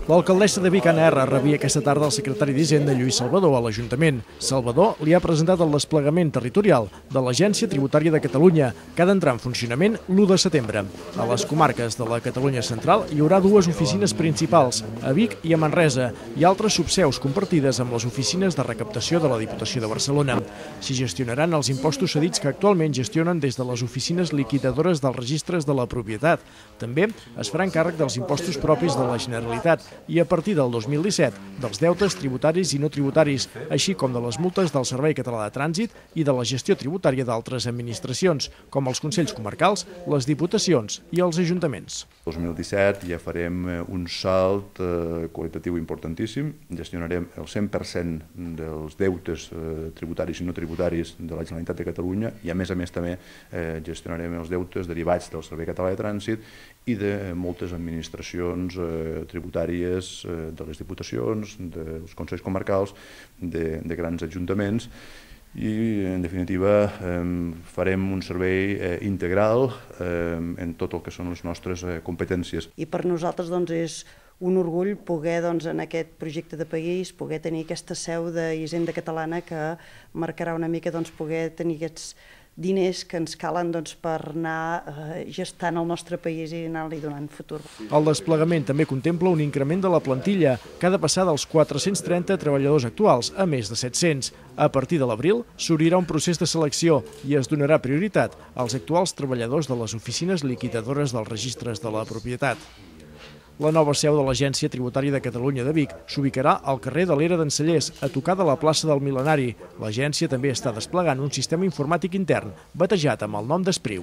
L'alcaldessa de Vic, Anna R, rebia aquesta tarda el secretari d'Hisenda, Lluís Salvador, a l'Ajuntament. Salvador li ha presentat el desplegament territorial de l'Agència Tributària de Catalunya, que ha d'entrar en funcionament l'1 de setembre. A les comarques de la Catalunya central hi haurà dues oficines principals, a Vic i a Manresa, i altres subseus compartides amb les oficines de recaptació de la Diputació de Barcelona. S'hi gestionaran els impostos cedits que actualment gestionen des de les oficines liquidadores dels registres de la propietat. També es faran càrrec dels impostos propis de la Generalitat i a partir del 2017 dels deutes tributaris i no tributaris, així com de les multes del Servei Català de Trànsit i de la gestió tributària d'altres administracions, com els Consells Comarcals, les Diputacions i els Ajuntaments. El 2017 ja farem un salt qualitatiu importantíssim, gestionarem el 100% dels deutes tributaris i no tributaris de la Generalitat de Catalunya i a més també gestionarem els deutes derivats del Servei Català de Trànsit i de moltes administracions tributàries de les diputacions, dels consells comarcals, de grans ajuntaments i, en definitiva, farem un servei integral en tot el que són les nostres competències. I per nosaltres és un orgull poder, en aquest projecte de país, poder tenir aquesta seu d'Hisenda Catalana que marcarà una mica poder tenir aquests diners que ens calen per anar gestant el nostre país i anar-li donant futur. El desplegament també contempla un increment de la plantilla, que ha de passar dels 430 treballadors actuals a més de 700. A partir de l'abril s'obrirà un procés de selecció i es donarà prioritat als actuals treballadors de les oficines liquidadores dels registres de la propietat. La nova seu de l'Agència Tributària de Catalunya de Vic s'ubicarà al carrer de l'Era d'en Cellers, a tocar de la plaça del Mil·lenari. L'agència també està desplegant un sistema informàtic intern, batejat amb el nom d'Espriu.